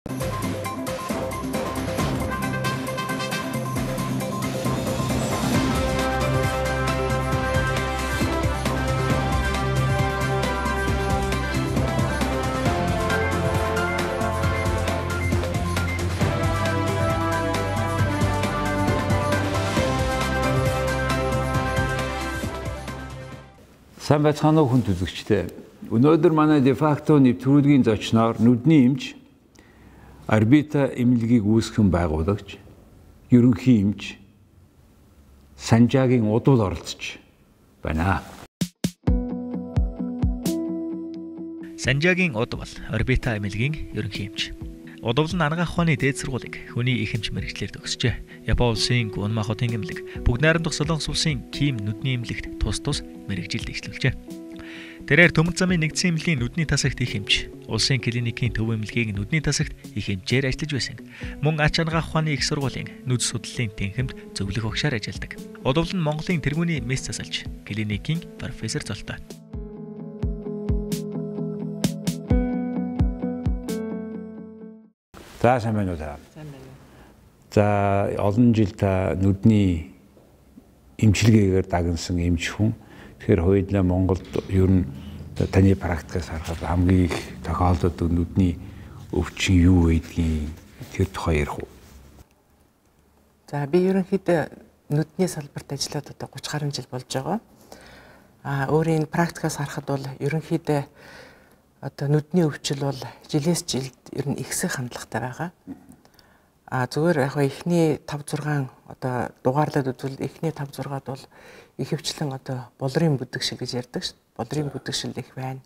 Сайн байцгаана уу хүн төлөвчтэй. Өнөөдөр манай дефакто нэвтрүүлгийн зочноор нүдний эмч, орбита эмнэлгийг үүсгэн байгуулагч, ерөнхий эмч Санжаагийн удвал оролцож байна. Санжаагийн удвал орбита эмнэлгийн ерөнхий эмч. Удвал нь анагаах ухааны дээд сургуулийг хүний их эмч мэргэжлээр төгсжээ. Япон улсын Гунма хотын эмнэлэг, Бүгд найрамдах Солонгос улсын Ким нүдний эмнэлэгт тус мэргэжилд дэвшлүүлжээ. Тэрээр Төмөр замын нэгдсэн эмнэлгийн нүдний тасагт их эмч, улсын клиникийн төв эмнэлгийн нүдний тасагт их эмчээр ажиллаж байсан. Мөн ач анагаах ухааны их сургуулийн нүд судлалын тэнхимд зөвлөх багшаар ажилладаг. Удвал нь Монголын тэргүүний мэс засалж, клиникийн профессор золтой. За сайн байна уу та? Сайн байна. За олон жил та нүдний эмчилгээгээр дагнсан эмч хүн. Тэгэхээр хоёулаа Монголд ер нь таны практикаас харахад хамгийн их тохиолддог нүдний өвчин юу байдгийг тэр тухай ярих уу? За би ерөнхийдөө нүдний салбарт ажиллаад одоо 30 гаруй жил болж байгаа. Өөрийн практикаас харахад бол ерөнхийдөө одоо нүдний өвчил бол жилээс жилд ер нь ихсэх хандлагатай байгаа. Зүгээр яг эхний 5-6 одоо дугаарлаад үзвэл эхний 5-6-ад бол ихэвчлэн одоо болрын бүдэгшил гэж ярьдаг шүү. Болрын бүдэгшил их байна.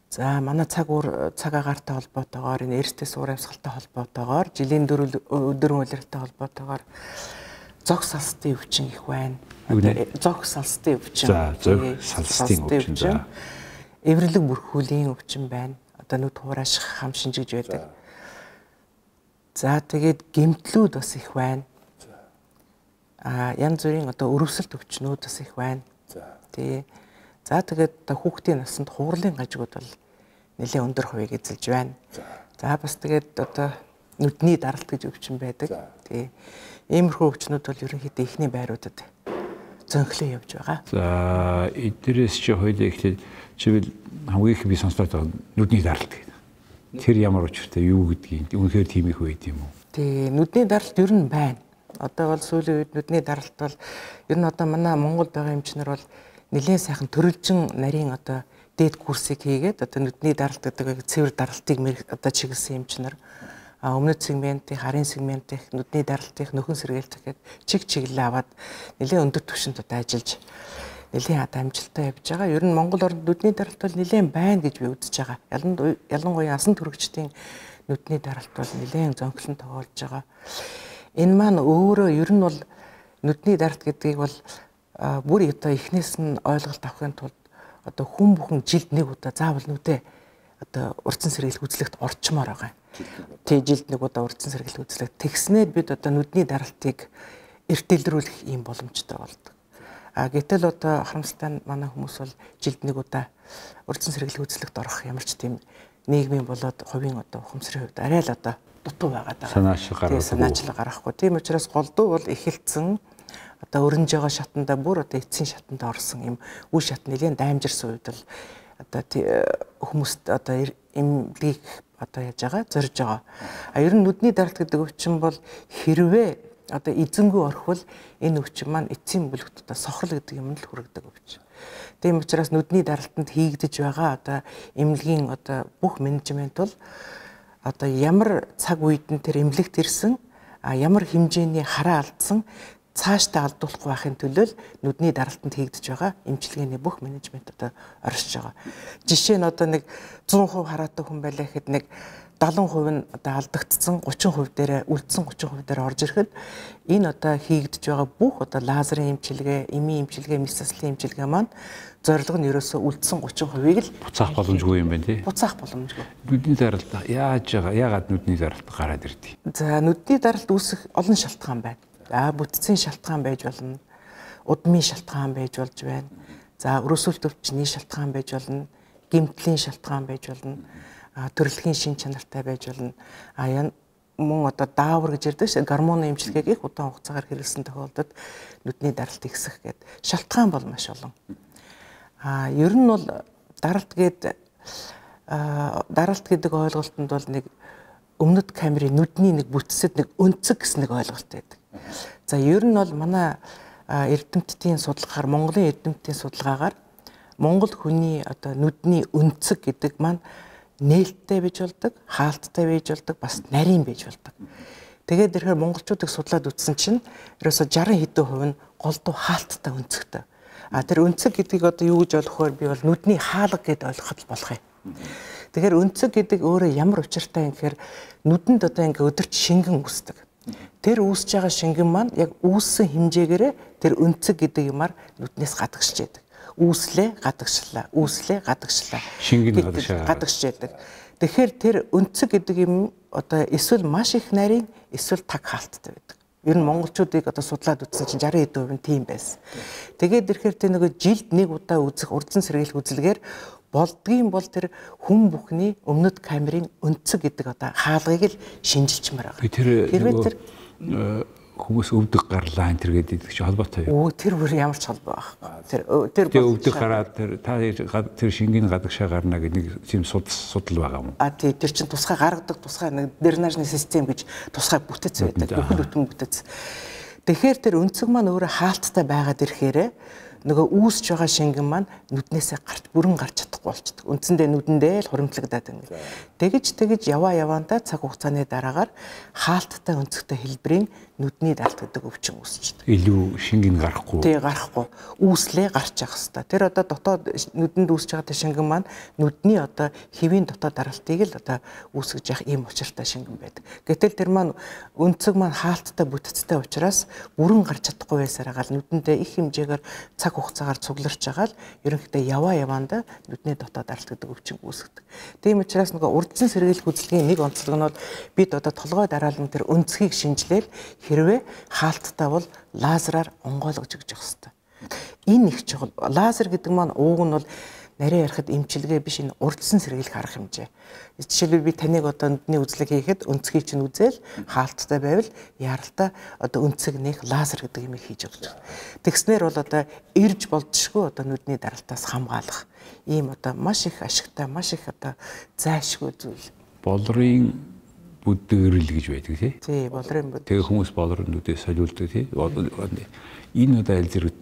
За манай цаг агаартай холбоотойгоор энэ эрсдэл суур амьсгалтай холбоотойгоор жилийн өдөр үйлрэлтэй холбоотойгоор зог салстын өвчин их байна. Зог салстын өвчин. За зог салстын өвчин. Эвэрлэг бүрхүүлийн өвчин байна. Одоо нүд хурааших хам шинжиж байдаг. За тэгээд гэмтлүүд бас их байна. Янз бүрийн одоо өрөвсөлт өвчнүүд бас их байна. Тий. За тэгээд хүүхдийн насанд хурлын гажигуд бол нэлээд өндөр хувийг эзэлж байна. За бас тэгээд одоо нүдний даралт гэж өвчин байдаг. Тий. Иймэрхүү өвчнүүд бол ерөнхийдөө ихний байруудад зөнхлөө явж байгаа. За эднэрээс чи хоёул ихлээр чивэл хамгийн их би сонсоод байгаа нүдний даралт гэдэг. Тэр ямар учиртай юу гэдгийг үнэхээр тийм их байд юм уу? Тий, нүдний даралт ер нь байна. Одоо бол сүүлийн үед нүдний даралт бол ер нь одоо манай Монголд байгаа эмчнэр бол нэлээд сайхан төрөлжин нарийн одоо дээд курсыг хийгээд одоо нүдний даралт гэдэг цэвэр даралтыг одоо чиглэсэн эмчнэр өмнөд сегментийн, харийн сегментийн нүдний даралтын нөхөн сэргээлт гэхэд чиглэлээ аваад нэлээд өндөр түвшинд одоо ажиллаж нэлээд амжилттай явж байгаа. Ер нь Монгол орнд нүдний даралт бол нэлээд байна гэж би үзэж байгаа. Ялангуяа асан түрэгчдийн нүдний даралт бол нэлээд зөнхлөн тоглож байгаа. Энэ маань өөрөө ер нь бол нүдний даралт гэдгийг бол бүр одоо эхнээс нь ойлголт авахын тулд одоо хүн бүхэн жилд нэг удаа заавал нүдээ одоо урдсан сэргийлэх үзлэгт орчмоор байгаа. Тэ жилд нэг удаа урдсан сэргийлэх үзлэгт тэгснээр бид одоо нүдний даралтыг эрт дэлгэрүүлэх юм боломжтой болдог. Гэтэл одоо харамсалтай манай хүмүүс бол жилд нэг удаа урдсан сэргийлэх үзлэгт орох ямар ч тийм нийгмийн болоод хувийн одоо ухамсарын хувьд арай л одоо дутуу байгаа даа. Санаачлал гарахгүй. Тийм учраас голдуу бол эхэлсэн одоо өрнөж байгаа шатанда бүр одоо эцсийн шатанда орсон юм үе шат нэлийн даймжирсан үед бол одоо хүмүүст одоо эмнэлгийг одоо яаж байгаа зорж байгаа. Ер нь нүдний даралт гэдэг өвчин бол хэрвээ одоо эзэнгүй орхвол энэ өвчин маань эцсийн бүлэгт одоо сохрол гэдэг юмд л хүргэдэг өвчин. Тийм учраас нүдний даралтанд хийгдэж байгаа одоо эмнэлгийн одоо бүх менежмент бол одоо ямар цаг үед нь тэр эмнэлэгт ирсэн, ямар хэмжээний хараа алдсан цаашдаа алдуулахгүй байхын төлөө нүдний даралтанд хийгдэж байгаа эмчилгээний бүх менежмент одоо оршиж байгаа. Жишээ нь одоо нэг 100% хараатай хүн байлаа гэхэд нэг 70% нь одоо алдагдсан 30% дээрээ үлдсэн 30% дээр орж ирэхэд энэ одоо хийгдэж байгаа бүх одоо лазерын эмчилгээ, эмийн эмчилгээ, мэс заслын эмчилгээ маань зорилго нь ерөөсөө үлдсэн 30%-ийг л буцаах боломжгүй юм байна тий. Буцаах боломжгүй. Нүдний даралт яагаад нүдний даралт гараад ирдэг? За нүдний даралт үүсэх олон шалтгаан байна. Бүтцийн шалтгаан байж болно. Удмын шалтгаан байж болж байна. За өрөөсөлт өвчний шалтгаан байж болно. Гэмтлийн шалтгаан байж болно. төрөлхийн шин чанартай байж болно. Мөн одоо даавар гэж ярьдаг шүү. Гормоны эмчилгээг их удаан хугацаагаар хэрэглэсэн тохиолдолд нүдний даралт ихсэх гэдэг шалтгаан бол маш олон. Ер нь бол даралт гэдэг ойлголтод бол нэг өмнөд камерын нүдний нэг бүтцэд нэг өнцөг гэсэн нэг ойлголт байдаг. За ер нь бол манай эрдэмтдийн судалгаагаар, Монголын эрдэмтдийн судалгаагаар Монгол хүний одоо нүдний өнцөг гэдэг маань нээлттэй байж болдог, хаалттай байж болдог, бас нарийн байж болдог. Тэгээд ирэхээр монголчуудыг судлаад үзсэн чинь ерөөсө 60 хэдэн хувь нь голдуу хаалттай өнцөгтэй. Тэр өнцөг гэдгийг одоо юу гэж ойлгохоор би бол нүдний хаалга гэдээ ойлгоход болох юм. Тэгэхээр өнцөг гэдэг өөрөө ямар учиртай юм гэхээр нүдэнд одоо ингээ өдөрч шингэн үүсдэг. Тэр үүсэж байгаа шингэн маань яг үүссэн хэмжээгээрээ тэр өнцөг гэдэг юмар нүднээс гадагшиж яадаг. Үүслээ гадагшлаа, үүслээ гадагшлаа. Шингэн гадагшиж яадаг. Тэгэхээр тэр өнцөг гэдэг юм одоо эсвэл маш их нарийн, эсвэл таг хаалттай байдаг. Ер нь монголчуудыг одоо судлаад үзсэн чинь 60% нь тийм байсан. Тэгээд ирэхээр тэр нөгөө жилд нэг удаа үзэх урдсан сэргийлэх үзэлгээр болдгийн бол тэр хүн бүхний өмнөд камерын өнцөг гэдэг одоо хаалгыг л шинжилчмээр байгаа. Хэрвээ тэр хүмүүс өвдөг гарлаа энэ гэдэг чи холбоотой юу? Тэр бүр ямар ч холбоо байхгүй. Тэр өвдөг гараад тэр шингийн гадагшаа гарна гэдэг нэг тийм судал байгаа юм. Тэр чинь тусгай гаргадаг тусгай нэг дренажны систем гэж тусгай бүтэц байдаг. Бүхэл бүтэн бүтэц. Тэгэхээр тэр өнцөг маань өөрөө хаалттай байгаад ирэхээр нөгөө үүсж байгаа шингэн маань нүднээсээ бүрэн гарч чадахгүй болчихдог. Үндсэндээ нүдэндээ л хуримтлагдаад байна. Тэгэж яваандаа цаг хугацааны дараагаар хаалттай өнцөгтэй хэлбэрийн нүдний даралт гэдэг өвчин үүсчихдэг. Илүү шингэн гарахгүй. Тий, гарахгүй. Үүслээ гарч явах хэвээр. Тэр одоо дотоод нүдэнд үүсэж байгаа шингэн маань нүдний одоо хэвийн дотоод даралтыг л одоо үүсгэж явах ийм учиртай шингэн байдаг. Гэтэл тэр маань өнцөг маань хаалттай бүтэцтэй учраас бүрэн гарч чадахгүй байсараа нүдэндээ их хэмжээгээр цаг хугацаагаар цугларч байгаа л ерөнхийдөө яваандаа нүдний дотоод даралт гэдэг өвчин үүсгдэг. Тийм учраас нөгөө урдсан сэргийлэх үзэлгийн нэг онцлог нь бол бид одоо толгой дараалан тэр өнцгийг шинжилээл хэрвээ хаалттай бол лазераар онгойлгож өгч явах хэрэгтэй. Энэ их чухал. Лазер гэдэг маань ууг нь бол нарийн ярихад эмчилгээ биш, энэ урдсан сэргийлэх арга хэмжээ. Жишээлбэл би таныг одоо нүдний үзлэг хийхэд өнцгийг чинь үзэл хаалттай байвал яралтай одоо өнцөг нэх лазер гэдэг юм хийж өгч байна. Тэгснээр бол одоо ирж болдшгүй одоо нүдний даралтаас хамгаалах ийм одоо маш их ашигтай, маш их одоо зайлшгүй зүйл. Болрын бүдгэрэл гэж байдаг тий. Тий, болрын бүд. Тэгээ хүмүүс болрын нүдээ солиулдаг тий. Энэ одоо аль зэрэг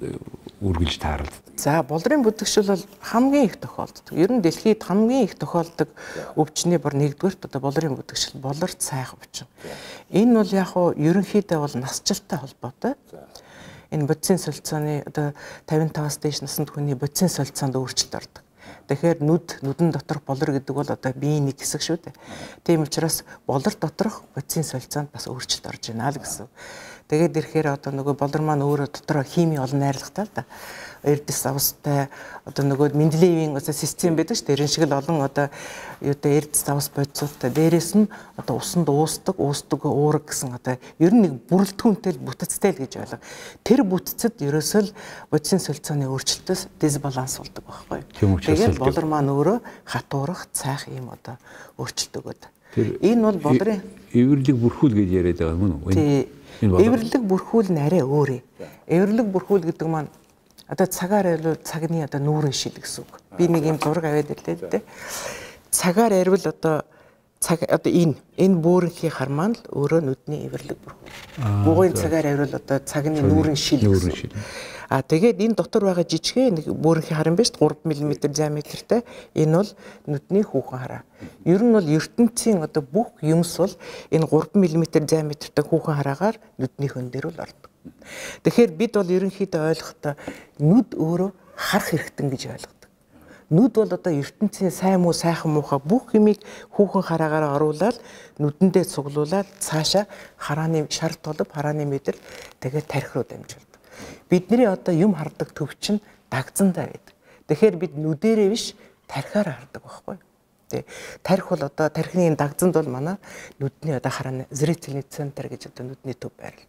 үргэлж тааралд. За, болрын бүдгшил бол хамгийн их тохиолддог. Ер нь дэлхийд хамгийн их тохиолдог өвчний бүр нэгдүгээрт одоо болрын бүдгшил, болорт сайх өвчин. Энэ бол яг хуу ерөнхийдөө бол насжилттай холбоотой. Энэ бодисын солилцооны одоо 55-аас дээш наснд хүний бодисын солилцоонд өөрчлөлт ордог. Тэгэхээр нүдэн доторх болор гэдэг бол одоо биеийн нэг хэсэг шүү дээ. Тийм учраас болор доторх бодисын солилцоонд бас өөрчлөлт орж байна л гэсэн. Тэгээд ирэхээр одоо нөгөө болор маань өөрөө дотроо хими олон найрлагатай л да. Эрдэс австай одоо нөгөө Менделеевийн систем байдаг шүү дээ. Тэрэн шиг л олон одоо юутай эрдэс авс бодисуудтай. Дээрээс нь одоо усанд уусдаг уураг гэсэн одоо ер нь нэг бүрэлдэхүүнтэй бүтэцтэй л гэж ойлго. Тэр бүтэцэд ерөөсөө л бодисын солилцооны өөрчлөлтөөс дисбаланс болдог байхгүй юу? Тэгээд болор маань өөрөө хатуурах, цайх ийм одоо өөрчлөлт өгöd. Энэ бол болрын эвэрлэг бүрхүүл гэж яриад байгаа юм уу? Эвэрлэг бүрхүүл нь арай өөр. Эвэрлэг бүрхүүл гэдэг маань одоо цагаар арвал цагны одоо нүүрэн шил гэсэн үг. Би нэг юм зураг аваад ирлээ дээ. Цагаар арвал одоо энэ бөөрөнхийн хармаан л өөрөө нүдний эвэрлэг бүрхүүл. Бугуйн цагаар арвал одоо цагны нүүрэн шил гэсэн. Тэгээд энэ дотор байгаа жижигхэн нэг бөөрөнхийн харан биш 3 мм диаметртай. Энэ бол нүдний хүүхэн хараа. Ер нь бол ертөнцийн одоо бүх юмс бол энэ 3 мм диаметртай хүүхэн хараагаар нүдний хон дээр бол ордог. Тэгэхээр бид бол ерөнхийдөө ойлгохдоо нүд өөрөө харах хэрэгтэн гэж ойлгодог. Нүд бол одоо ертөнцийн сайн муу сайхан муухай бүх юмыг хүүхэн хараагаар оруулаад нүдэндээ цуглуулад цаашаа харааны шар толб харааны мэдрэл тэгээд тархи руу дамжуулдаг. Бидний одоо юм хардаг төв чинь дагзандаа байдаг. Тэгэхээр бид нүдэрээ биш тархиаар хардаг байхгүй юу? Тэ тархи бол одоо тархины дагзанд бол манай нүдний одоо харааны зрительный центр гэж одоо нүдний төв байрлал.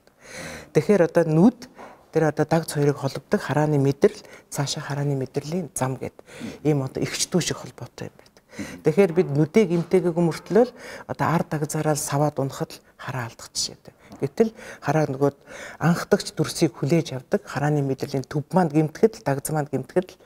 Тэгэхээр одоо нүд тэр одоо дагц хоёрыг холбодог харааны мэдрэл цаашаа харааны мэдрэлийн зам гэдэг ийм одоо эгч дүү шиг холбоотой юм байдаг. Тэгэхээр бид нүдээ гимтэйг мөртлөөл одоо ард дагзаараа саваад унахад л хараа алдах жишээтэй. Гэтэл хараа нөгөө анхдагч дүрсийг хүлээж авдаг харааны мэдрэлийн төв манд гимтгэхэд дагз манд гимтгэхэд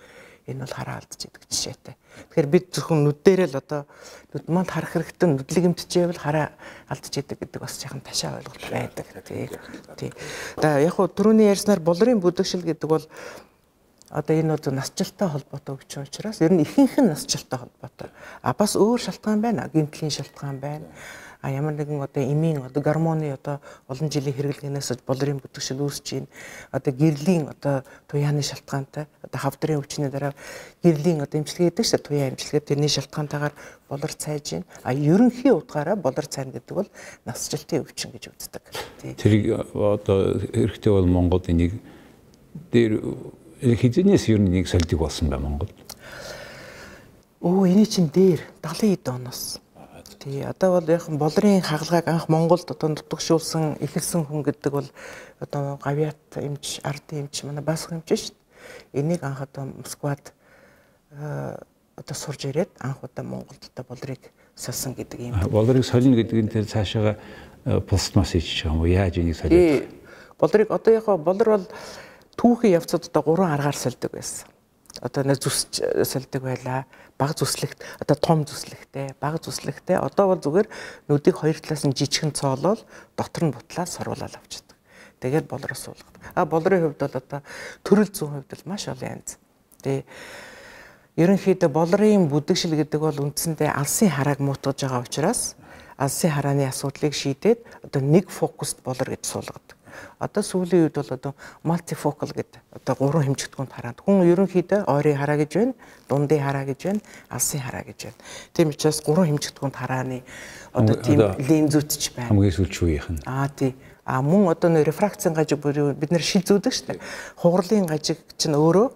энэ бол хараа алдж идэг жишээтэй. Тэгэхээр бид зөвхөн нүдээрээ л одоо нүд манд харах хэрэгтэй нүдлэг гимтчихвэл хараа алдж идэг гэдэг бас яхан ташаа ойлголт байдаг. Тий. Одоо яг хуу түрүүний ярьснаар болрын бүдэгшил гэдэг бол одоо энэ бол насжилттай холбоотой өвчин учраас ер нь ихэнх нь насжилттай холбоотой. Бас өөр шалтгаан байна. гэмтлийн шалтгаан байна. Ямар нэгэн одоо эмийн одоо гормоны одоо олон жилийн хэрэглэнээс болрын бүдэгшил үүсэж байна. Одоо гэрлийн одоо туяаны шалтгаантай одоо хавдрын өвчний дараа гэрлийн одоо эмчилгээ гэдэг чинь туяа эмчилгээ тэрний шалтгаантайгаар болор цайж байна. Ерөнхий утгаараа болор цайна гэдэг бол насжилтын өвчин гэж үздэг. Тэр одоо хэрэгтэй бол Монголд энийг дээр хизэнээс ер нь нэг солидөг болсон байна Монголд. Эний чинь дээр 70 эд оноос. Тий, одоо бол яг болрын хагалгааг анх Монголд одоо нутагшуулсан эхэлсэн хүн гэдэг бол одоо гавьяат эмч, ардын эмч, манай баасх эмч шүү дээ. Энийг анх одоо Москвад одоо сурж ирээд анх удаа Монголд одоо болрыг солисон гэдэг юм. Болрыг солино гэдэг нь тэр цаашаага пластмас хийж байгаа юм уу? Яаж энийг солиод? Болрыг одоо яг болор бол түүхийн явцад одоо 3 аргаар сольдог байсан. Одоо нэг зүсч сольдог байлаа. Бага зүслэгт одоо том зүслэгтэй, бага зүслэгтэй одоо бол зүгээр нүдийг хоёр талаас нь жижигхэн цоолол дотор нь бутлаад сорвуулаад авчихдаг. Тэгээд болроо суулгадаг. Болрын хувьд бол одоо төрөл зүйн хувьд бол маш олон янз. Тэгээ ерөнхийдөө болрын бүдэгшил гэдэг бол үндсэндээ алсын харааг муутгаж байгаа учраас алсын харааны асуудлыг шийдээд одоо нэг фокуст болор гэж суулгадаг. Одоо сүүлийн үед бол одоо мультифокал гэдэг одоо 3 хэмжигдэхүүнд хараад хүн ерөнхийдөө ойрын хараа гэж байна, дундын хараа гэж байна, алсын хараа гэж байна. Тийм учраас 3 хэмжигдэхүүнд харааны одоо тийм линзүүтч байна. Хамгийн сүүлчүүгийнх нь. Тий. Мөн одоо нэр рефракцийн гажиг бид нэр шил зүүдэг шүү дээ. Хугарлын гажиг чинь өөрөө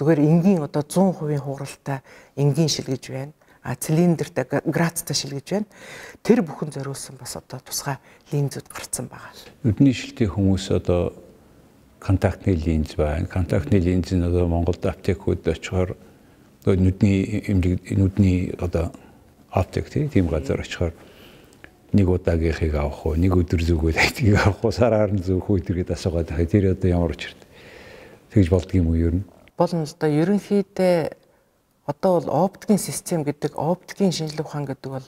зүгээр энгийн одоо 100% хугаралтай энгийн шил гэж байна. Цилиндртэй градустай шил гэж байна. Тэр бүхэн зориулсан бас одоо тусгай линзүүд гарцсан байгаа. Нүдний шилтэй хүмүүс одоо контактны линз байна. Контактны линз нь одоо Монголд аптекууд очихоор нүдний одоо аптек тийм газар очихоор нэг удаагийнхыг авах уу, нэг өдөр зүгөө тайтгийг авах уу, сараар нь зөөх үү тэргээд асуугаад байгаа. Тэр одоо ямар учирт. Тэгж болдго юм уу ер нь? Болно л да. Ерөнхийдөө одоо бол оптикийн систем гэдэг оптикийн шинжилгээ ухаан гэдэг бол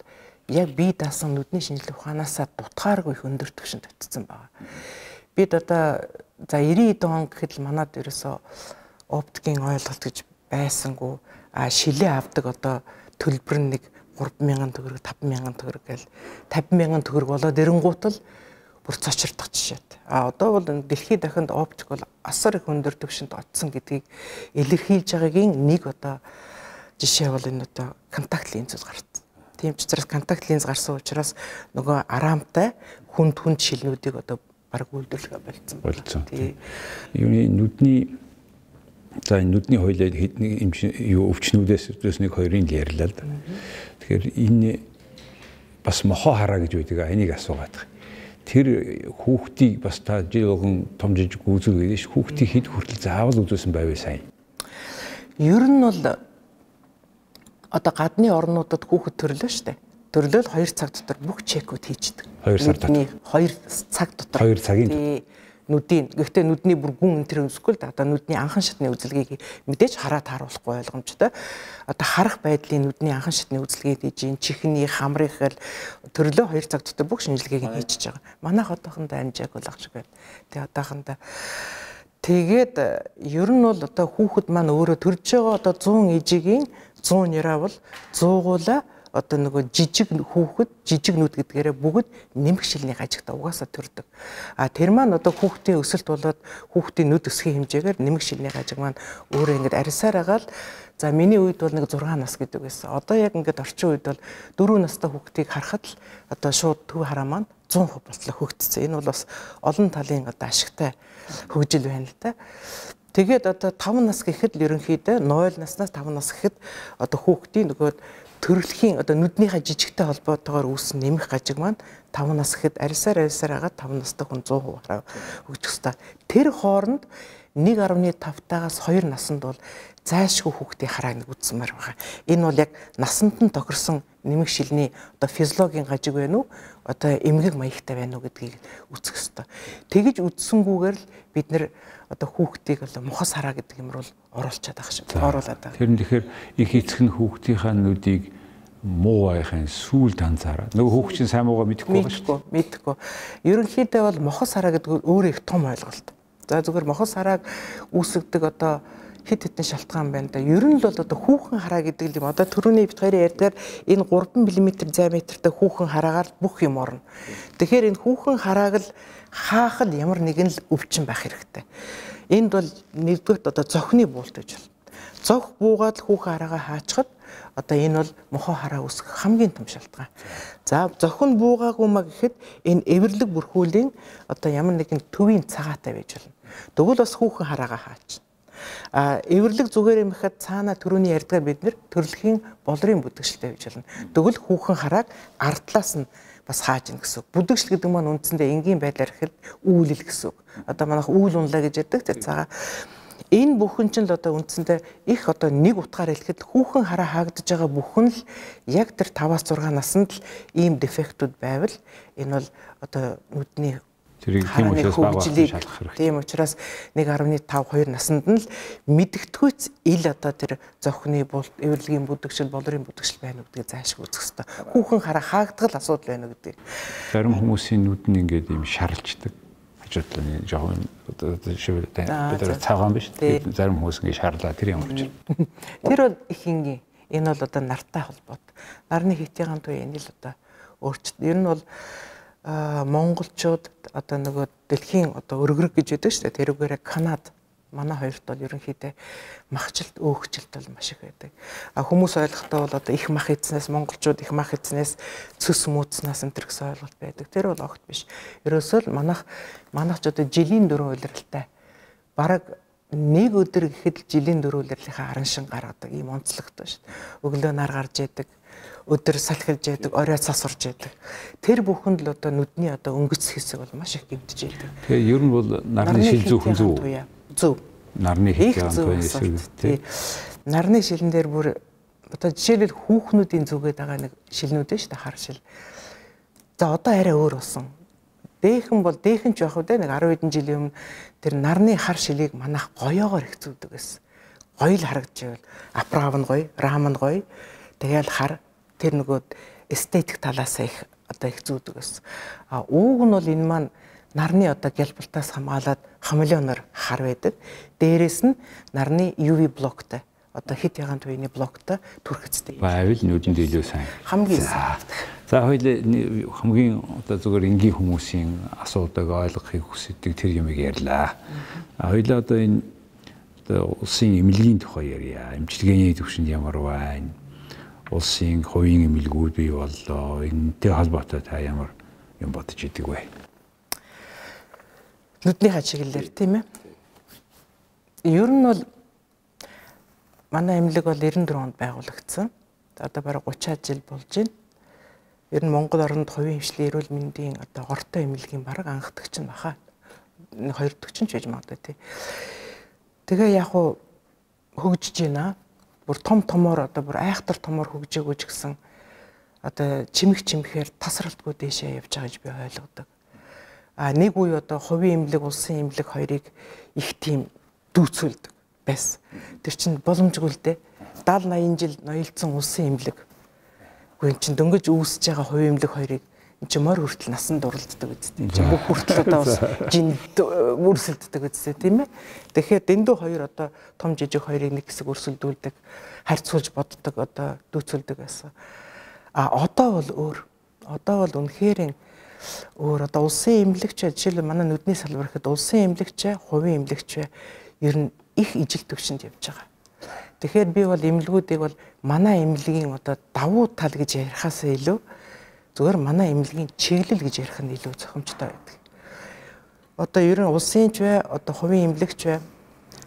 яг бие даасан нүдний шинжилгээ ухаанаасаа дутгааргүй өндөр түвшинд тавьчихсан байна. Бид одоо за 90 он гэхэд л манад ерөөсөө оптикийн ойлголт гэж байсангүй шилээ авдаг одоо төлбөр нь нэг 3,000 төгрөг 5,000 төгрөг гэл 50,000 төгрөг болоод ирэнгуут л бүр цочирдох жишээт. Одоо бол дэлхийд дахинд оптик бол асар их өндөр түвшинд очсон гэдгийг илэрхийлж байгаагийн нэг одоо жишээ бол энэ одоо контакт линзүүд гарсан. Тийм ч учраас контакт линз гарсан учраас нөгөө араамтай хүнд шилнүүдийг одоо баг үйлдвэрлэгээ болцсон. Тийм. Юуны нүдний хойлоо өвчнүүдээс нэг хоёрын л ярьлаа л да. Тэгэхээр энэ бас мохоо хараа гэж байдаг. Энийг асуугаад байгаа. Тэр хүүхдийг бас та жил болгон том жижиг үзүүл гэдэг ш. Хүүхдийг хэд хүртэл заавал үзүүлсэн байваа сайн. Ер нь бол одоо гадны орнуудад хүүхэд төрлөө штэ. Төрлөөл 2 цаг дотор бүх чекүүд хийждэг. 2 сар дотор. 2 цаг дотор. 2 цагийн нүдийн. Гэхдээ нүдний бүр гүн энэ өсөхгүй л одоо нүдний анхан шатны үзэлгийг мэдээж хараад харуулахгүй ойлгомжтой. Одоо харах байдлын нүдний анхан шатны үзэлгээд хийж ин чихний хамрын хэл төрлөө 2 цаг дотор бүх шинжилгээг хийчихэж байгаа. Манайх одоохондоо амжааг бол ах шиг байна. Тэгээ одоохондоо тэгээд ер нь бол одоо хүүхэд маань өөрөө төрж байгаа одоо 100 ижигийн 100 нэраа бол 100гуула одоо нөгөө жижиг хүүхэд жижиг нүд гэдгээрээ бүгд нэмэх шилний гажигта угаасаа төрдөг. Тэр маань одоо хүүхдийн өсөлт болоод хүүхдийн нүд өсгийн хэмжээгээр нэмэх шилний гажиг маань өөрөө ингээд арьсаар агаал за миний үед бол нэг 6 нас гэдэг байсан. Одоо яг ингээд орчин үед бол 4 настай хүүхдийг харахад л одоо шууд төв хараа маань 100% болтлоо хөгжсөн. Энэ бол бас олон талын одоо ашигтай хөгжил байна л да. Тэгээд одоо 5 нас гэхэд л ерөнхийдөө 0 наснаас 5 нас гэхэд одоо хүүхдийн нөгөө төрөлхийн одоо нүднийхээ жижигтэй холбоотойгоор үүссэн нэмэх гажиг маань 5 нас гэхэд арьсаар агаад 5 настай хүн 100% хөгжих ёстой. Тэр хооронд 1.5-таагаас 2 наснд бол зайлшгүй хүүхдийн харааг нэг үзсмээр байгаа. Энэ бол яг насанд нь тохирсон нэмэг шилний одоо физиологийн гажиг байна уу? Одоо эмгэг маягтай байна уу гэдгийг үзэх ёстой. Тэгэж үзсэнгүүгээр л бид нэр одоо хүүхдийг бол мухас хараа гэдэг юмр бол оруулчаад байгаа шиг оруулаад байгаа. Тэр нь тэгэхээр их эцэг нь хүүхдийнхаа нүдийг муу байхын сүүлд анзаараад нөгөө хүүхд чинь сайн муугаа мэдэхгүй байгаа шүү дээ. Мэдэхгүй. Ерөнхийдөө бол мохос хараа гэдэг өөрөө их том ойлголт. За зүгээр мохос харааг үүсгдэг одоо хэд хэдэн шалтгаан байна да. Ер нь л бол одоо хүүхэн хараа гэдэг юм. Одоо түрүүний бид хоёрын ярьдгаар энэ 3 мм диаметртай хүүхэн хараагаар бүх юм орно. Тэгэхээр энэ хүүхэн харааг л хаах л ямар нэгэн л өвчин байх хэрэгтэй. Энд бол нэгдүгээр одоо зохины буулт гэж байна. Зох буугаад л хүүхэн хараагаа хаачхад одоо энэ бол мохоо хараа үүсгэх хамгийн том шалтгаан. За зохин буугаагүй маа гэхэд энэ эвэрлэг бүрхүүлийн одоо ямар нэгэн төвийн цагаатай байж болно. Тэгвэл бас хүүхэн хараагаа хаачна. Эвэрлэг зүгээр юм ихэд цаана төрөний ярьдгаар бид нэр төрөлхийн болрын бүдгшилтэй байж болно. Тэгвэл хүүхэн харааг ардлаас нь бас хааж ийн гэсэн. Бүдгшил гэдэг маань үндсэндээ энгийн байдлаар ихэд үүлэл гэсэн. Одоо манайх үйл унлаа гэж яддаг цаага. Энэ бүхэн чинь л одоо үндсэндээ их одоо нэг утгаар хэлэхэд хүүхэн хараа хаагдж байгаа бүхэн л яг тэр 5-6 наснд л ийм дефектүүд байвал энэ бол одоо нүдний тэрийг тийм учраас багуулж шалгах хэрэгтэй. Тийм учраас 1.5-2 наснд нь л мэдгэдэггүйц ил одоо тэр зохины буулт, эвэрлэгийн бүдгшил, болрын бүдгшил байна уу гэдгийг заашгүй үзэх хэрэгтэй. Хүүхэн хараа хаагдгал асуудал байна гэдэг. Зарим хүмүүсийн нүд нь ингээд ийм шарлждаг. Хажуудлын жоохон одоо шивэр бид цагаан биш. Зарим хүмүүс ингээд шарлаа тэр ямар ч. Тэр бол их энгийн. Энэ бол одоо нартай холбоотой. Нарны хитийн ганц үе энэ л одоо өөрчлөлт. Ер нь бол монголчууд одоо нөгөө дэлхийн одоо өргөрөг гэж байдаг шүү дээ. Тэрүүгээрээ Канада манай хоёрт бол ерөнхийдөө махжилт өөгчлөлт бол маш их байдаг. Хүмүүс ойлгохтой бол одоо их мах эзнээс монголчууд их мах эзнээс цөс мууцнаас энэ төр гэсэн ойлголт байдаг. Тэр бол огт биш. Ерөөсөө л манайч одоо жилийн 4 улиралтай. Бараг нэг өдөр гэхэд жилийн 4 улирлынхаа аран шин гаргадаг ийм онцлогтой шүү дээ. Өглөө нар гарч яадаг, өдөр салхилж яадаг, орой цас урж яадаг. Тэр бүхэнд л одоо нүдний одоо өнгөц хэсэг бол маш их гэмтэж яадаг. Тэгээ ер нь бол нарны шил зүүхэн зөв. Зөв. Нарны хитийн хэсэг тий. Нарны шилэн дээр бүр одоо жишээлбэл хүүхнүүдийн зүгээд байгаа нэг шилнүүд дээ шүү дээ, хар шил. За одоо арай өөр болсон. Дээхэн ч явах үү нэг 10 хэдэн жилийн өмнө тэр нарны хар шилийг манайх гоёогоор их зүүдэг гэсэн. Гоё л харагдчихвэл аправ нь гоё, рам нь гоё. Тэгэл хар тэр нөгөө эстетик талаас их одоо их зүүдэг гэсэн. Ууг нь бол энэ маань нарны одоо гялбалтаас хамгаалаад хамелеоноор хар байдаг. Дээрээс нь нарны UV блоктай одоо хит ягаан төвийн блоктой түрхэцтэй. Байвал нүдэнд илүү сайн. Хамгийн сайн. За хоёул хамгийн одоо зүгээр энгийн хүмүүсийн асуудаг ойлгохыг хүсдэг тэр юмыг ярьлаа. Хоёул одоо энэ улсын эмнэлгийн тухай ярья. Эмчилгээний түвшинд ямар байна? Улсын хувийн эмнэлгүүд бий боллоо. Энэтэй холбоотой та ямар юм бодож идэг вэ? Нүдний хачиглэлээр тийм ээ. Ер нь бол манай эмнэлэг бол 94 онд байгуулагдсан. Одоо бараг 30 жил болж байна. Ер нь Монгол оронд хувийн хвшлийн эрүүл мэндийн одоо гортой эмнэлгийн бараг анхдагч нь баха. 2 дахь ч байж магадгүй тий. Тэгээ яг уу хөгжиж байна. Бүр томоор одоо бүр айхтар томоор хөгжөөгөө ч гэсэн одоо чимэхээр тасралтгүй дээшээ явж байгаа гэж би ойлгодог. Нэг үе одоо хувийн эмнэлэг, улсын эмнэлэг хоёрыг их тийм дүүцүүлдэг байсан. Тэр чинь боломжгүй л дээ. 70-80 жил ноёлцсон улсын эмнэлэг. Гүн чинь дөнгөж үүсэж байгаа хувийн эмнэлэг хоёрыг энэ чинь морь хүртэл насан дурлддаг үстэй. Чи бүх хүртэл одоо бас жинд өрсөлддөг үстэй тийм ээ. Тэгэхээр дэндүү хоёр одоо том жижиг хоёрыг нэг хэсэг өрсөлдүүлдэг, харьцуулж боддог одоо дүүцүүлдэг байсан. Одоо бол өөр. Одоо бол үнэхээр өөр одоо улсын эмнэлэгч жишээлбэл манай нүдний салбар гэхэд улсын эмнэлэгч, хувийн эмнэлэгч ер нь их ижил төвшөнд явж байгаа. Тэгэхээр би бол эмнэлгүүдийг бол манай эмнэлгийн одоо давуу тал гэж ярихаас илүү зүгээр манай эмнэлгийн чиглэл гэж ярих нь илүү зохимжтой байдаг. Одоо ер нь улсын ч бай, одоо хувийн эмнэлэгч бай,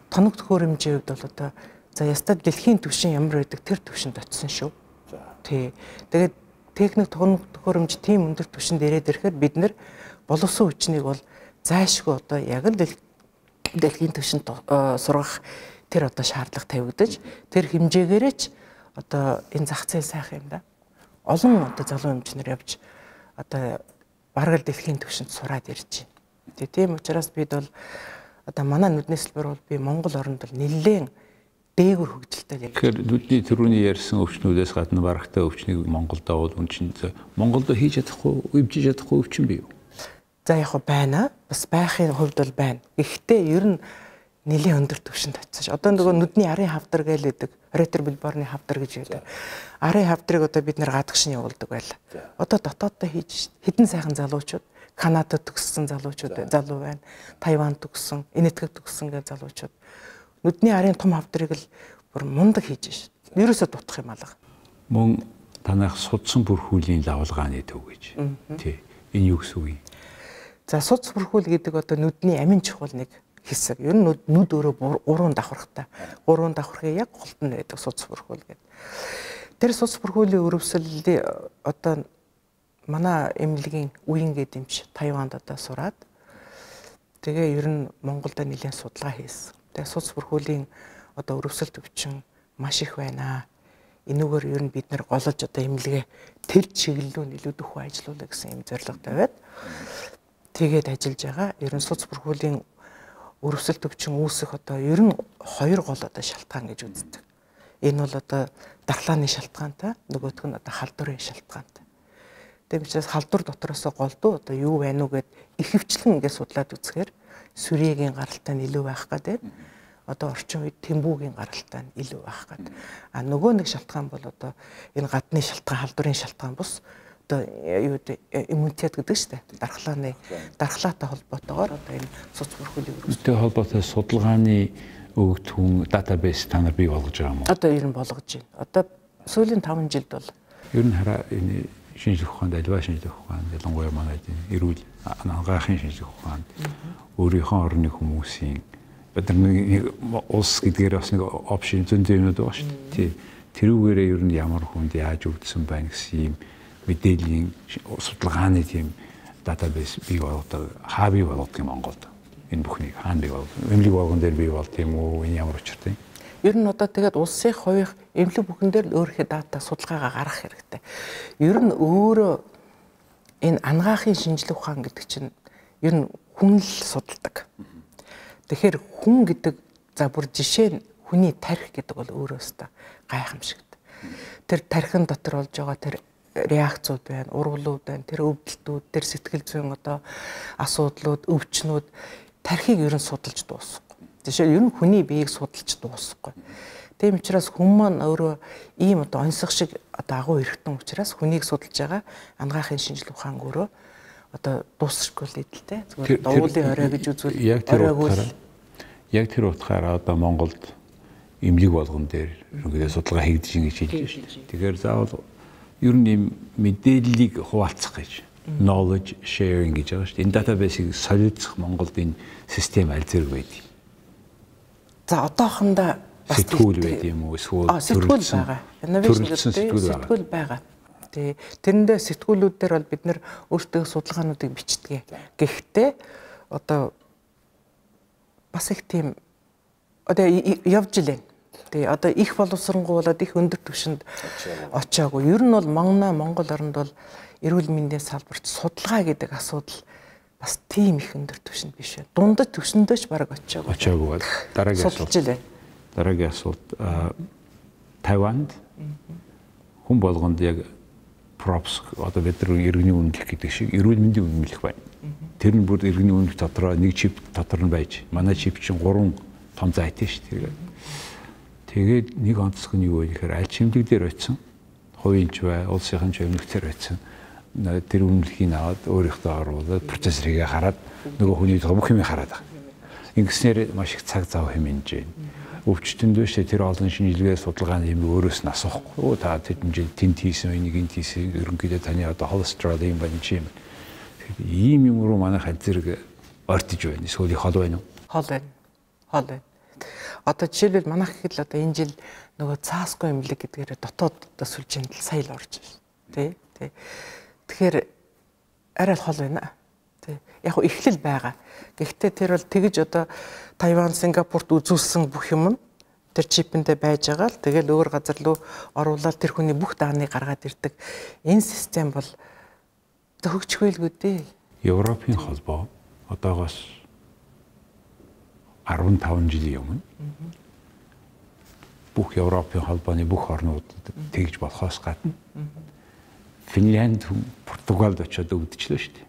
тоног төхөөрөмжийн хувьд бол одоо за ястад дэлхийн түвшин ямар байдаг тэр түвшинд очисон шүү. Тий. Тэгээд техник тоног төхөөрөмж тийм өндөр түвшинд ирээд ирэхээр бид нэр боловсон хүчнийг бол зайлшгүй одоо яг л дэлхийн түвшинд сургах тэр одоо шаардлага тавигдаж тэр хэмжээгээрээ ч одоо энэ зах зээл сайхан юм да. Олон одоо залуу эмчнэр явж одоо бараг л дэлхийн түвшинд сураад ирж байна. Тийм учраас бид бол одоо манай нүдний хэлбэр бол би Монгол оронд бол нэлээд дээгүр хөгжилтэй яг. Тэгэхээр нүдний төрөний ярьсан өвчнүүдээс гадна барагтай өвчнийг Монголд авал үн чинь Монголд хийж чадахгүй, өвчиж чадахгүй өвчин бий юу? За яг байна. Бас байхын хувьд бол байна. Гэхдээ ер нь нэлийн өндөр түвшинд очиж. Одоо нөгөө нүдний арын хавдар гэлээдэг, ретрибулборны хавдар гэж байдаг. Арын хавдрыг одоо бид нэр гадагш нь явуулдаг байлаа. Одоо дотооддоо хийж хэдэн сайхан залуучууд, Канадад төгссөн залуучууд залуу байна. Тайванд төгссөн, Энэтхэгт төгссөн гэж залуучууд. Нүдний арын том хавдрыг л бүр мундаг хийж шээ. Ерөөсөө дутах юм алга. Мөн танах судсан бүрхүүлийн лавлгааны төв гэж. Тий. Энэ юу гэсэн үг юм? За судас бүрхүүл гэдэг одоо нүдний амин чухал нэг хэсэг. Ер нь нүд өөрөө уруунд давхархтай. Уруунд давхархыг яг голд нь байдаг судас бүрхүүл гэдэг. Тэр судас бүрхүүлийн өрөвсөлд одоо манай эмнэлгийн үеийн гэдэмч Тайванд одоо сураад тэгээ ер нь Монголд нэлээд судалгаа хийсэн. Тэгээ судас бүрхүүлийн одоо өрөвсөлт өвчин маш их байна. Энүүгээр ер нь бид нэр голж одоо эмнэлгээ тэр чиглэлөө нэлээд өхөө ажиллуулах гэсэн юм зорилго тавиад тэгээд ажиллаж байгаа. Ер нь судас бүрхүүлийн өрөвсөлт өвчин үүсэх одоо ер нь хоёр гол одоо шалтгаан гэж үздэг. Энэ бол одоо дархлааны шалтгаантай, нөгөөх нь одоо халдварын шалтгаантай. Тэгээд учраас халдвар дотроос голдуу одоо юу байна уу гэд ихэвчлэн ингээд судлаад үзэхээр сүрьегийн гаралтай нь илүү байх гэдэг. Одоо орчин үед тэмбүүгийн гаралтай нь илүү байх гэдэг. А нөгөө нэг шалтгаан бол одоо энэ гадны шалтгаан, халдварын шалтгаан бус одоо юу иммунитет гэдэг шүү дээ. Дархлаатай холбоотойгоор одоо энэ судас бүрхүүлийн өрөвсөлттэй холбоотой судалгааны өгөгдөн датабейс та нар бий болгож байгаа юм уу? Одоо ер нь болгож байна. Одоо сүүлийн 5 жилд бол ер нь хараа энэ шинжлэх ухаанд альва шинжлэх ухаанд ялангуяа манайд эрүүл анагаахын шинжлэх ухаанд өөрийнхөө орны хүмүүсийн бид нар улс гэдгээр бас нэг опшн зөндөө юмуд байгаа шүү дээ. Тэрүүгээрээ ер нь ямар хүнд яаж өвдсөн байна гэсэн юм мэдээллийн судалгааны тийм датабейс бий болгодог. Хаа бий болгодог юм Монголд? Энэ бүхнийг хаана бий болгодог? Эмнэлэг болгон дээр бий болт юм уу? Энэ ямар учиртай? Ер нь одоо тэгээд улсын хувийн эмнэлэг бүхэн дээр л өөрийнхөө дата судалгаагаа гаргах хэрэгтэй. Ер нь өөрөө энэ анагаахын шинжлэх ухаан гэдэг чинь ер нь хүн л судалдаг. Тэгэхээр хүн гэдэг за бүр жишээ нь хүний тарих гэдэг бол өөрөөсөө гайхамшигт. Тэр тархин дотор болж байгаа тэр реакцууд байна, ургалууд байна, тэр өвдөлтүүд, тэр сэтгэл зүйн одоо асуудлууд, өвчнүүд тархийг ер нь судалж дуусахгүй. Жишээ нь ер нь хүний биеийг судалж дуусахгүй. Тийм учраас хүн маань өөрөө ийм одоо онцлог шиг одоо агуу эргэтэн учраас хүнийг судалж байгаа анагаахын шинжлэх ухаан өөрөө одоо дуусахгүй л эдэлтэй. Зүгээр дуулын орой гэж үзвэл яг тэр утгаараа одоо Монголд эмнэлэг болгон дээр ерөнхийдөө судалгаа хийгдэж ингэж хэлж байна шүү дээ. Тэгэхээр заавал ер нь юм мэдээллийг хуваалцах гэж knowledge sharing гэж байгаа шүү дээ. Энэ датабейсийг солилцох Монголд энэ систем аль зэрэг байдаг? За одоохондоо сэтгүүл байд юм уу? Эсвэл сэтгүүл байгаа. Инновашн сэтгүүл байгаа. Тэрэндээ сэтгүүлүүд дээр бол бид нэр өөртөө судалгаануудыг бичдэг. Гэхдээ одоо бас их тийм одоо явж илээ. Тэгээ одоо их боловсронгуулаад их өндөр түвшинд очиагүй. Ер нь бол Монгол оронд бол эрүүл мэндийн салбарт судалгаа гэдэг асуудал бас тийм их өндөр түвшинд биш байна. Дундад түвшиндөө ч бараг очиагүй. Очиагүй. Дараагийн асуулт Тайванд хүн болгонд яг props одоо бид нар иргэний үнэлэх гэдэг шиг эрүүл мэндийн үнэлэх байна. Тэр нь бүр иргэний үнэлэх дотроо нэг чип дотор нь байж. Манай чип чинь 3 том зайтай шүү дээ. Тэгээд нэг онцлог нь юу вэ гэхээр аль чимдэг дээр очисон. Хувийн ч бай, улсын ч өмнөхдөр очисон. Тэр үнэлгийг аваад өөрийнхөө оруулаад процессор хийгээ хараад нөгөө хүний бүх юм хараад байгаа. Ингэснээр маш их цаг зав хэмнэж байна. Өвчтөнд биш тэр олон шинжилгээ судалгааны юм өөрөөс нь асуухгүй. Оо та тэдэн тент хийсэн энийг энэ хийсэн ерөнхийдөө таны одоо холестерол юм байна чи юм. Тэгэхээр ийм юм руу манай хад зэрэг ортиж байна. Эсвэл их хол байна уу? Хол байна. Одоо жишээлбэл манайх гэхэл одоо энэ жил нөгөө цаасгүй эмнэлэг гэдгээр дотоод одоо сүлжээнд сая л орж байна. Тэ. Тэгэхээр арай л хол байна. Тэ. Яг ихлэл байгаа. Гэхдээ тэр бол тэгж одоо Тайван, Сингапурт үзүүлсэн бүх юм нь тэр чипэндээ байж байгаа л тэгэл өөр газар руу оруулаад тэр хүний бүх дааныг гаргаад ирдэг. Энэ систем бол хөгжихөйлгүй дээ. Европын холбоо одоогоос 15 жилийн өмнө бүх Европын холбооны бүх орнуудад тэгж болохоос гадна Финлянд, Португалд очиод өвдчлөө шүү дээ.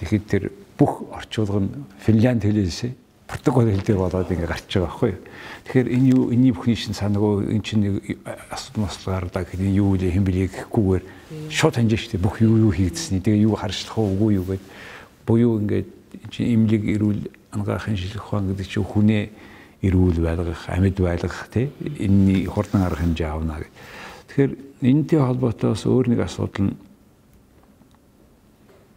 Тэгэхэд тэр бүх орчуулга нь Финлянд хэлээс Португал хэл дээр болоод ингэ гарч байгаа байхгүй юу. Тэгэхээр энэ юу энэний бүхний шин санаагүй эн чинь асуудал гардаг гэхэд юу вэ хэм бэлээ гэхгүйгээр шууд ханжиж шүү дээ. Бүх юу хийгдсэний тэгээ юу харшлах уу юу гэд буюу ингээд чинь имлэг ирүүл ангаахын шилэх ухаан гэдэг чинь хүнээ ирүүл байлгах, амьд байлгах тий энэний хурдан арга хэмжээ авна гэх. Тэгэхээр энэтэй холбоотой бас өөр нэг асуудал нь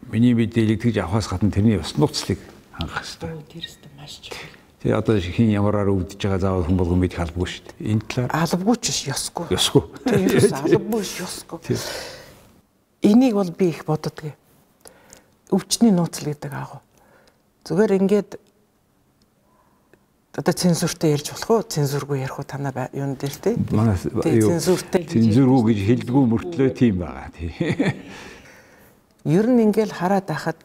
миний мэдээлэл тэгж авахаас гадна тэрний бас нууцлыг хангах хэрэгтэй. Тэрс маш чухал. Тэгээ одоо хин ямараар өвдөж байгаа заавал хүн болгон мэдэх албагүй шүү дээ. Энэ талаар албагүй ч ёсгүй. Ёсгүй. Тэрс албагүй ёсгүй. Энийг бол би их боддоггүй. Өвчний нууцл гэдэг аав. Зүгээр ингээд одоо цензуртай ярьж болох уу? Цензургүй ярих уу танаа юун дээр те? Манай цензуртай цензургүй гэж хэлдэггүй мөртлөө тийм байгаа тий. Ер нь ингээл хараад байхад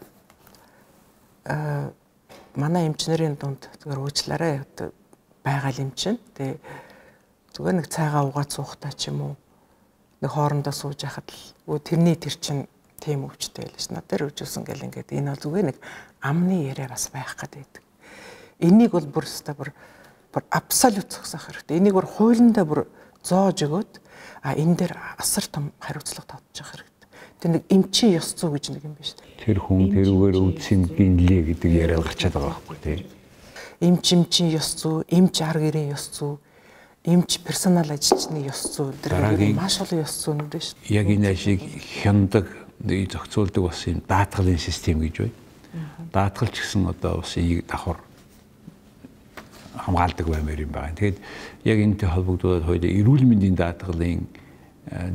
манай эмчнэрийн дунд зүгээр уучлаарай байгаа юм чинь. Тэгээ зүгээр нэг цайгаа угаад суухтаа ч юм уу нэг хоорондоо сууж яхад л тэрний тэр чинь тийм өвчтэй байл ш. Надаар өвжүүлсэн гэл ингээд энэ бол зүгээр нэг амны яриа бас байх гэдэг. Энийг бол бүр абсолют зогсоох хэрэгтэй. Энийг бүр хуулиндаа бүр зоож өгөөд энэ дээр асар том хариуцлага татчих хэрэгтэй. Тэр нэг эмчийн ёс зүй гэж нэг юм байна шүү дээ. Тэр хүн тэрүүгээр өвдсөн гинлээ гэдэг яриа гарчаад байгаа байхгүй тий. Эмчийн ёс зүй, эмч арга гэрийн ёс зүй, эмч персонал ажилчны ёс зүй дээр маш олон ёс зүйнүүд байна шүү дээ. Яг энэ ашиг хяндаг, зохицуулдаг бас юм даатгалын систем гэж байна. Даатгалч гэсэн одоо бас энийг давхар хамгаалдаг баймаар юм байна. Тэгэхээр яг энэтэй холбогдуулаад хоёул эрүүл мэндийн даатгалын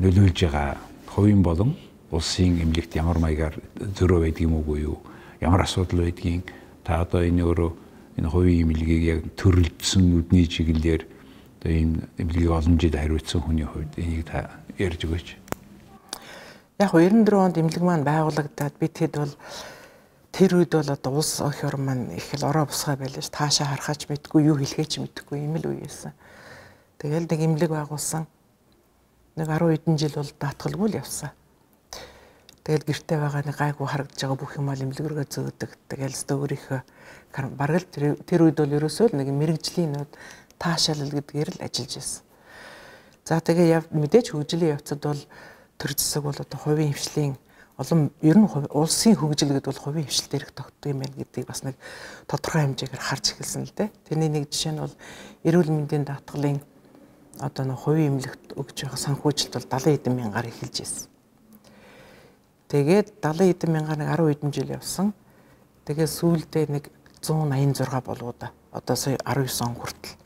нөлөөлж байгаа хувийн болон улсын эмнэлэгт ямар маягаар зөрөө байдаг юм уу юу? Ямар асуудал байдгийг та одоо энэ өөрөө энэ хувийн эмнэлгийг яг төрөлдсөн нүдний чиглэлээр одоо энэ эмнэлгийг олон жил хариуцсан хүний хувьд энийг та ярьж өгөөч. Яг 94 онд эмнэлэг маань байгуулагдаад бид хэд бол тэр үед бол одоо улс өх орн маань их л ороо бусгай байлаа ш. Таашаа харахаач мэдгүй юу хэлхээч мэдгүй юм л үеэсэн. Тэгэл нэг эмнэлэг байгуулсан. Нэг 10 хэдэн жил бол даатгалгүй л явсан. Тэгэл гэртээ байгаа нэг гайгүй харагдаж байгаа бүх юм ал эмнэлэг рүүгээ зөөдөг. Тэгэл өстө өөрийнхөө бараг л тэр үед бол ерөөсөө нэг мэрэгжлийн нүүд таашаалал гэдгээр л ажиллаж байсан. За тэгээ мэдээж хөгжлийн явцад бол төр зэсэг бол одоо хувийн хвшлийн олон ер нь улсын хөгжил гэдэг бол хувийн хвшил дээрх тогтдог юм байна гэдгийг бас нэг тодорхой хэмжээгээр харж эхэлсэн л дээ. Тэрний нэг жишээ нь бол эрүүл мэндийн даатгалын одоо нэг хувийн эмнэлэгт өгж байгаа санхүүжилт бол 70 хэдэн мянгаар эхэлж ирсэн. Тэгээд 70 хэдэн мянгаар нэг 10 хэдэн жил явсан. Тэгээд сүүлдээ нэг 186 болоо да. Одоо сая 19 он хүртэл.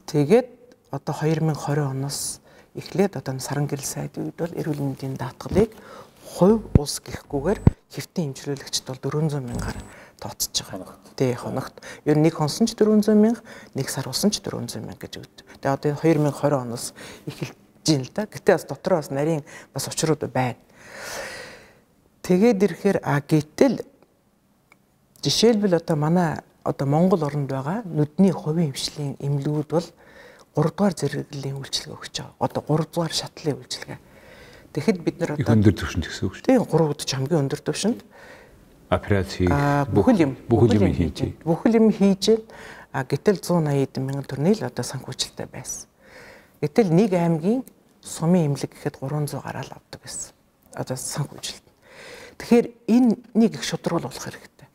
Тэгээд одоо 2020 оноос эхлээд одоо саран гэрэл сайд үед бол эрүүл мэндийн даатгалыг хувь улс гэхгүйгээр хэвтэн эмчилүүлэгчд бол 400 мянгаар тооцож байгаа. Тэ хоногт ер нь нэг хонсон ч 400 мянга, нэг сар усан ч 400 мянга гэж өгдөг. Тэгээ одоо 2020 оноос эхэлж байна л да. Гэтэ бас дотроо бас нарийн бас учрууд байна. Тэгээд ирэхээр гэтэл жишээлбэл одоо манай одоо Монгол орнд байгаа нүдний хувийн хвшлийн эмнэлгүүд бол 3 дугаар зэрэглэлийн үйлчилгээ өгч байгаа. Одоо 3 дугаар шатлалын үйлчилгээ. Тэгэхэд бид нар одоо өндөр түвшинд гэсэн үг шүү дээ. Тийм 3 удаа хамгийн өндөр түвшинд операцийг бүхэл юм хийж. Бүхэл юм хийж гэтэл 180 мянган төгрөний л одоо санхүүжилттэй байсан. Гэтэл нэг аймгийн сумын эмнэлэг гэхэд 300 гараал авдаг байсан. Одоо санхүүжилт. Тэгэхээр энэ нэг их шудрагл болох хэрэгтэй.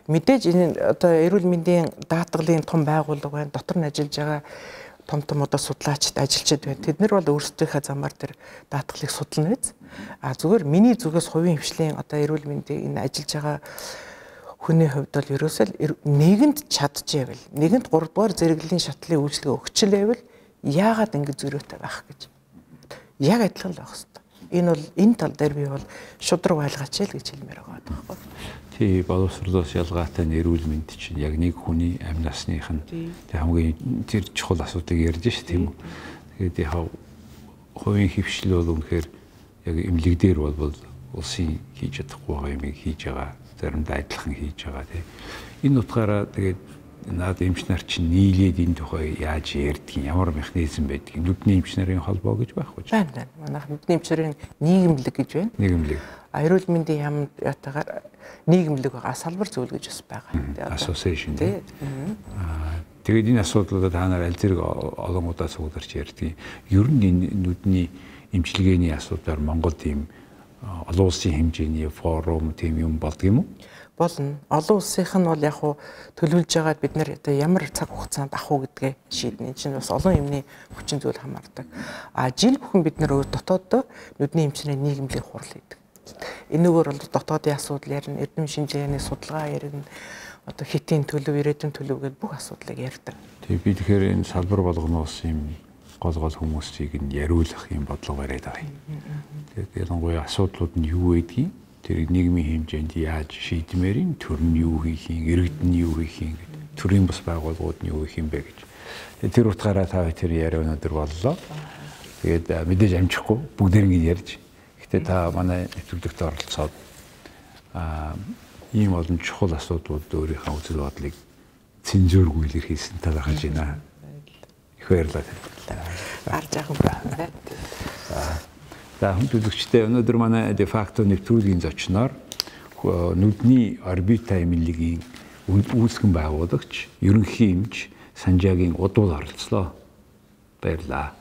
Мэдээж энэ одоо эрүүл мэндийн даатгалын том байгууллага байна. Дотор нь ажиллаж байгаа том одоо судлаачид ажилчид байна. Тэд нар бол өөрсдийнхээ замаар тэр даатгалыг судална биз. Зүгээр миний зүгээс хувийн хвшлийн одоо эрүүл мэндийн энэ ажиллаж байгаа хүний хувьд бол ерөөсөө нэгэнд чадчихвэл нэгэнд 3 дугаар зэрэглэлийн шатлалын үйлчилгээ өгчлээвэл яагаад ингэ зөрөөтэй байх гэж. Яг адилхан л байх хэрэгтэй. Энэ бол энэ тал дээр би бол шудраг байлгаач л гэж хэлмээр байгаа байхгүй. тий боловсролоос ялгаатай эрүүл мэнд чинь яг нэг хүний амь насных нь хамгийн тэр чухал асуудыг ярьж ш тийм үү. Тэгээд яг хувийн хөвшил бол үнэхээр яг эмнэлэг дээр бол улсын хийж чадахгүй байгаа юм хийж байгаа, заримдаа адилхан хийж байгаа тий. Энэ утгаараа тэгээд наад эмч нар чинь нийлээд энэ тухай яаж ярьдгийг, ямар механизм байдгийг нүдний эмч нарын холбоо гэж байхгүй ч. Байна. Манайх нүдний эмч нарын нийгэмлэг гэж байна. Нийгэмлэг. Эрүүл мэндийн яамд ятагаар нийгэмлэг байгаа, салбар зүйл гэж бас байгаа. Association тий. Тэгээд энэ асуудлуудад та нар аль зэрэг олон удаа суулгарч ярьдгийг. Ер нь энэ нүдний эмчилгээний асуудлаар Монголд ийм олон улсын хэмжээний форум тийм юм болдго юм уу? Болно. Олон улсынх нь бол яг хуу төлөвлөж байгаад бид нар одоо ямар цаг хугацаанд авах уу гэдгээ шийднэ. Энэ чинь бас олон юмны хүчин зүйл хамаардаг. Жил бүхэн бид нар дотооддоо нүдний эмчнэрийн нийгэмлэг хурал хийдэг. Энэгээр бол дотоодын асуудал ярина, эрдэм шинжилгээний судалгаа ярина, одоо хэтийн төлөв, ирээдүйн төлөв гэдэг бүх асуудлыг ярьдаг. Тэгээ би тэгэхээр энэ салбар болгоноос юм гол хүмүүсийг нь яриулах юм бодлого бариад байгаа юм. Тэгээд ялангуяа асуудлууд нь юу байдгийг, тэр нийгмийн хэмжээнд яаж шийдмээр юм, төр нь юу хийх юм, иргэд нь юу хийх юм гэдэг, төрийн бас байгууллагууд нь юу хийх юм бэ гэж. Тэгээд тэр утгаараа та тэр яриа өнөөдөр боллоо. Тэгээд мэдээж амжихгүй бүгдээр ингэ ярьж. Гэтэ та манай нэвтрүүлэгт оролцоод ийм олон чухал асуудлууд өөрийнхөө үзэл бодлыг цензургүй илэрхийлсэн талархаж байна. Их баярлалаа. Гарч яах вэ? За хүндлэгчтэй өнөөдөр манай де факто нэвтрүүлгийн зочноор нүдний орбита эмнэлгийн үүсгэн байгуулагч, ерөнхий эмч Санжаагийн удуул оролцлоо. Баярлалаа.